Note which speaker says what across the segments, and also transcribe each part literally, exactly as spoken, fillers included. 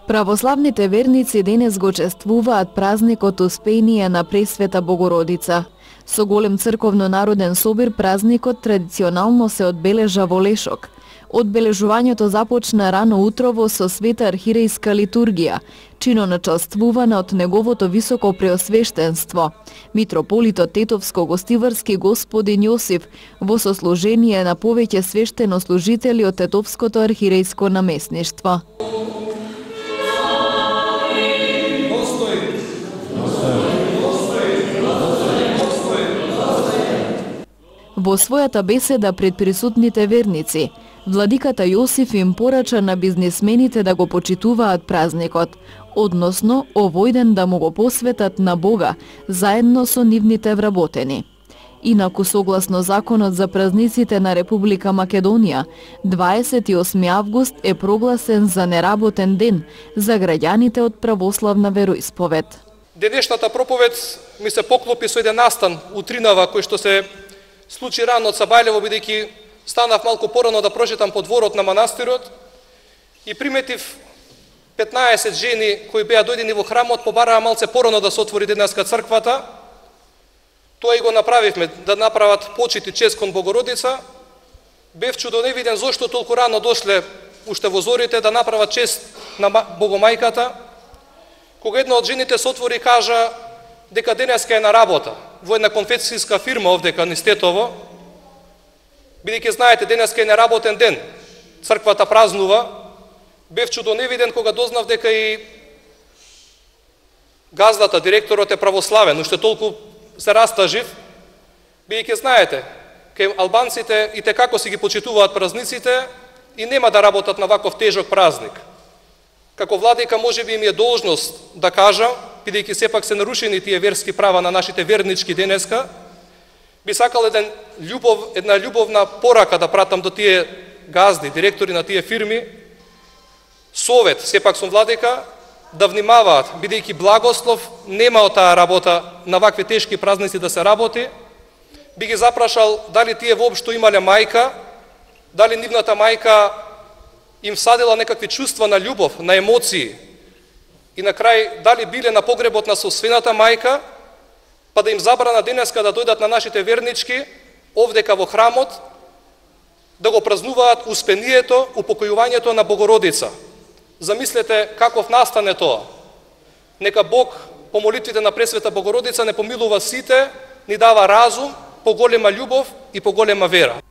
Speaker 1: Православните верници денес го чествуваат празникот Успение на Пресвета Богородица. Со голем црковно-народен собир празникот традиционално се одбележа во Лешок. Одбележувањето започна рано утрово со света архирејска литургија, чино начествувана од неговото високо преосвештенство, митрополитот Тетовско-Гостиварски господин Јосиф, во сослужение на повеќе свештенослужители од Тетовското архирејско наместништво. Во својата беседа пред присутните верници, владиката Јосиф им порача на бизнисмените да го почитуваат празникот, односно овој ден да му го посветат на Бога, заедно со нивните вработени. Инаку, согласно законот за празниците на Република Македонија, дваесет и осми август е прогласен за неработен ден за граѓаните од православна вероисповед.
Speaker 2: Денешната проповед ми се поклопи со еден настан утринава кој што се случи рано од Сабајлево, бидејќи станав малку порано да прочитам по дворот на манастирот и приметив петнаесет жени кои беа дојдени во храмот, побараа малце порано да се отвори денеска црквата. Тоа и го направивме, да направат почит и чест кон Богородица. Бев чудоневиден зошто толку рано дошле уште во зорите да направат чест на Богомајката. Кога една од жените се отвори и кажа дека денеска е на работа во една конфекцијска фирма овдека низ Тетово, бидејќи знаете денеска е неработен ден, црквата празнува. Бев чудоневиден кога дознав дека и газдата, директорот е православен, уште толку се растажив, бидејќи знаете, кај албанците и те како си ги почитуваат празниците и нема да работат на ваков тежок празник. Како владика можеби им е должност да кажа, бидејќи сепак се нарушени тие верски права на нашите вернички денеска, би сакал еден љубов, една љубовна порака да пратам до тие газди, директори на тие фирми, совет, сепак сум владика, да внимаваат, бидејќи благослов нема од таа работа на вакви тешки празници да се работи. Би ги запрашал дали тие воопшто имале мајка, дали нивната мајка им садила некакви чувства на љубов, на емоции, и на крај дали биле на погребот на собствената мајка, па да им забрана денеска да дојдат на нашите вернички овдека во храмот, да го празнуваат успението, упокојувањето на Богородица. Замислете каков настане тоа. Нека Бог по молитвите на Пресвета Богородица не помилува сите, ни дава разум, поголема љубов и поголема вера.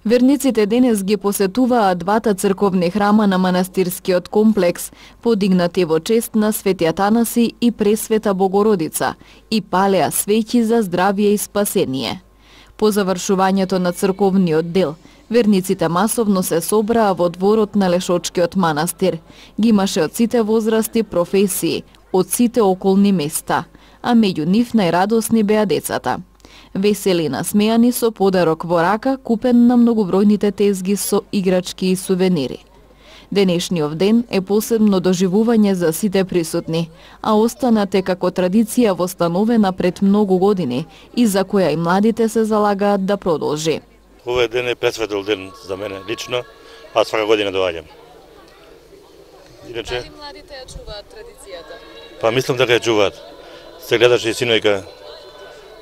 Speaker 1: Верниците денес ги посетуваат двата црковни храма на манастирскиот комплекс, подигнати во чест на Свети Атанаси и Пресвета Богородица, и палеа свеќи за здравје и спасение. По завршувањето на црковниот дел, верниците масовно се собраа во дворот на Лешочкиот манастир. Ги имаше од сите возрасти, професии, од сите околни места, а меѓу нив најрадосни беа децата. Весели насмејани со подарок во рака, купен на многобројните тезги со играчки и сувенири. Денешниот ден е посебно доживување за сите присутни, а останате како традиција востановена пред многу години и за која и младите се залагаат да продолжи.
Speaker 3: Овој ден е пресветел ден за мене лично, аз свака година доаѓам.
Speaker 1: Иначе, дали младите ја чуваат традицијата?
Speaker 3: Па мислам дека ја чуваат. Се гледаше и синојка,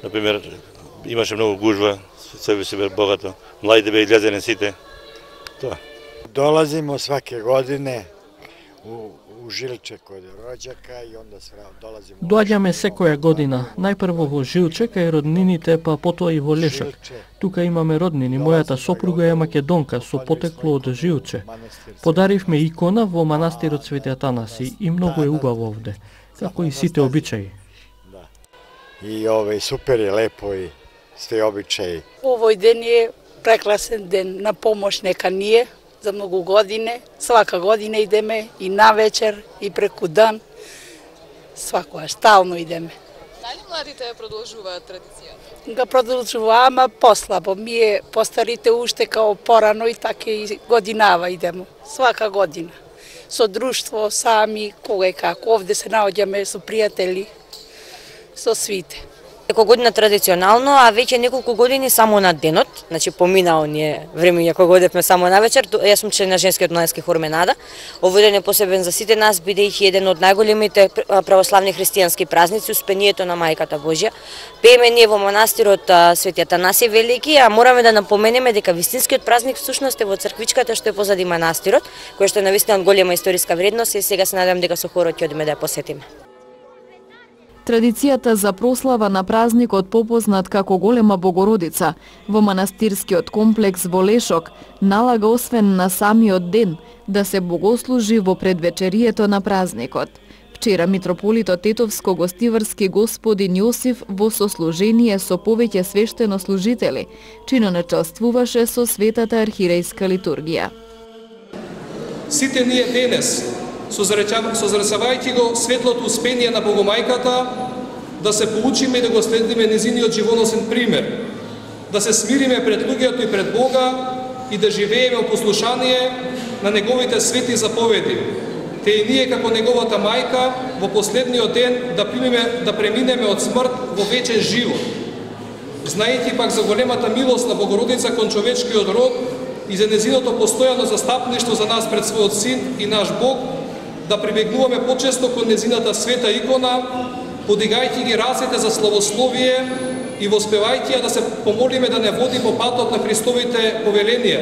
Speaker 3: например, имаше многу гужва, себе си бе богато. Младите бе излезени сите. Тоа.
Speaker 4: Долазимо сваке године у, у Жилче код роđaka и онда свра долазимо.
Speaker 5: Доаѓаме секоја година, најпрво во Жилче кај роднините, па потоа и во Лешак. Тука имаме роднини, мојата сопруга е македонка со потекло од Жилче. Подаривме икона во манастирот Свети Атанаси и многу е убаво овде, како и сите обичаи.
Speaker 4: И овој супер е лепо и сте обичаи.
Speaker 6: Овој ден е прекрасен ден на помош нека ние за многу години. Свака година идеме и на вечер и преку дан. Свакоја стално идеме.
Speaker 1: Дали младите ја продолжуваат традицијата?
Speaker 6: Га продолжува, ама послабо. Ние постарите уште као порано и така и годинава идемо. Свака година. Со друштво, сами, кога и како. Овде се наоѓаме со пријатели, со свите.
Speaker 7: Неколку година традиционално, а веќе неколку години само на денот, значи помина оние времења кога одевме само на вечер. Јас сум член на женскиот младински хор Менада. Овој ден е посебен за сите нас, бидејќи еден од најголемите православни христијански празници, Успението на Мајката Божја. Пееме ние во манастирот Свети Атанаси Велики, а мораме да напоменеме дека вистинскиот празник всушност е во црквичката што е позади манастирот, која што е навистина од голема историска вредност и сега се надевам дека со хорот ќе одиме да ја посетиме.
Speaker 1: Традицијата за прослава на празникот попознат како Голема Богородица во манастирскиот комплекс во Лешок налага освен на самиот ден да се богослужи во предвечерието на празникот. Вчера митрополитот Тетовско-гостиварски господин Јосиф во сослужение со повеќе свештенослужители чинонечествуваше со светата архиерејска литургија.
Speaker 2: Сите ние денес, созресавајќи го светлото успение на Богомајката, да се поучиме и да го следиме незиниот живоносен пример, да се смириме пред луѓето и пред Бога и да живееме во послушание на неговите свети заповеди, те и ние како неговата мајка во последниот ден да примеме да преминеме од смрт во вечен живот. Знаејќи пак за големата милост на Богородица кон човечкиот род и за незиното постојано застапништво за нас пред својот син и наш Бог, да прибегнуваме почесто кон незината света икона, подигајќи ги рацете за славословие и воспевајќи ја да се помолиме да не води по патот на Христовите повеленија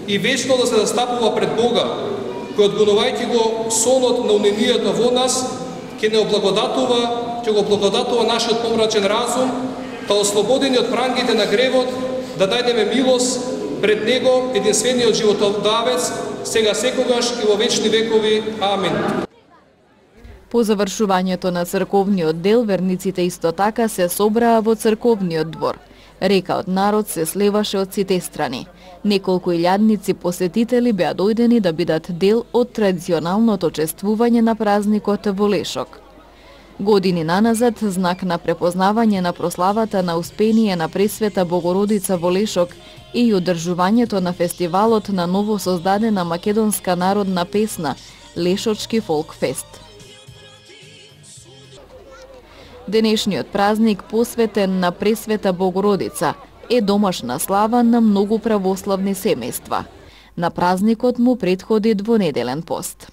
Speaker 2: и вечно да се застапува пред Бога, кој одгонувајќи го сонот на уненијата во нас, ќе не облагодатува, ќе го благодатува нашиот помрачен разум, да ослободени од прангите на гревот, да најдеме милост пред Него, единствениот животодавец, сега секогаш и во вечни векови. Амин.
Speaker 1: По завршувањето на црковниот дел, верниците исто така се собраа во црковниот двор. Река од народ се слеваше од сите страни. Неколку илјадници посетители беа дојдени да бидат дел од традиционалното чествување на празникот во Лешок. Години наназад, знак на препознавање на прославата на успение на Пресвета Богородица во Лешок и одржувањето на фестивалот на ново создадена македонска народна песна Лешочки фолк фест. Денешниот празник, посветен на Пресвета Богородица, е домашна слава на многу православни семејства. На празникот му претходи двонеделен пост.